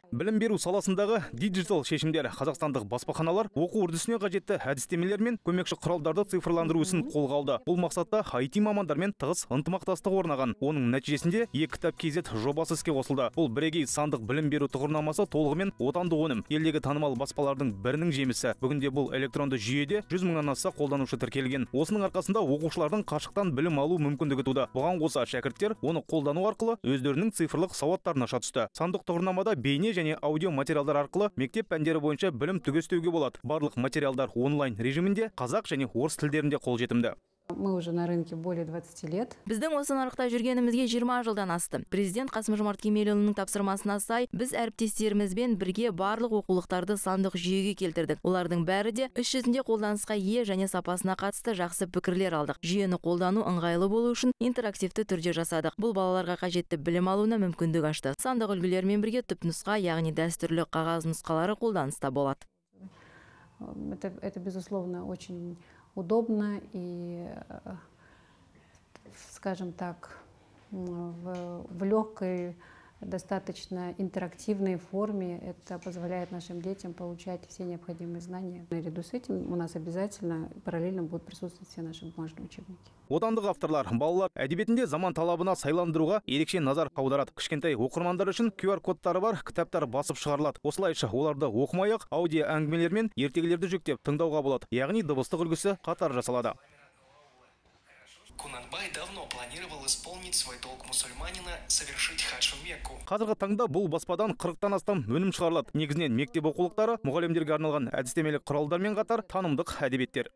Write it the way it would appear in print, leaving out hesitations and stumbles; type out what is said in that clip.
Білім беру саласындағы диджитал шешімдер қазақстандық баспаханалар оқу үрдісіне қажетті әдістемелер мен көмекші құралдарды цифрландыру ісін қолға алды. Бұл мақсатта IT мамандармен тығыз ынтымақтастық орнаған. Оның нәтижесінде e-кітап KZ жобасы іске қосылды. Бұл бірегей сандық білім беру тұғырнамасы толығымен отандық өнім. Елдегі танымал баспалардың бірінің жемісі. Бүгінде бұл электронды жүйеде 100 мыңнан аса қолданушы тіркелген. Осының арқасында оқушылардың қашықтан білім алу мүмкіндігі туды. Бұған қоса шәкірттер оны қолдану арқылы өздерінің цифрлық сауаттарын аша түсті. Сандық тұғырнамада бейне және аудио материалдар арқылы мектеп пәндері бойынша білім түгестеуге болады. Барлық материалдар онлайн режимінде қазақ және орыс тілдерінде қолжетімді. Мы уже на рынке более 20 лет. Біздің осы нарықта жүргенімізге 20 жылдан асты. Президент Қасым-Жомарт Кемелұлының тапсырмасына сай, біз әріптестерімізбен бірге барлық оқулықтарды сандық жүйеге келтірдік. Олардың бәрі де іс жүзінде қолданысқа ие және сапасына қатысты жақсы пікірлер алдық. Жүйені қолдану ыңғайлы болу үшін интерактивті түрде жасадық. Бұл балаларға қажетті білім алуына мүмкіндік ашты. Сандық үлгілермен бірге түпнұсқа, яғни дәстүрлі қағаз нұсқалары қолданыста болады. Это безусловно очень удобно и, скажем так, в легкой, достаточно интерактивной форме. Это позволяет нашим детям получать все необходимые знания. Наряду с этим у нас обязательно параллельно будут присутствовать все наши бумажные учебники. Отандық авторлар балалар әдебиетінде заман талабына сайландыруға ерекше назар аударады. Кішкентай оқырмандар үшін QR-кодтары бар кітаптар басып шығарылады. Осылайша оларды оқымай-ақ аудио әңгімелер мен ертегілерді жүктеп тыңдауға болады. Яғни дыбыстық үлгісі қатар жасалады. Кунанбай давно планировал исполнить свой долг мусульманина совершить хадж в Мекку. Қазіргі таңда бұл баспадан 40-тан астам өнім шығарылады. Негізінен мектеп оқулықтары, мұғалімдерге арналған әдістемелік құралдармен қатар танымдық әдебиеттер.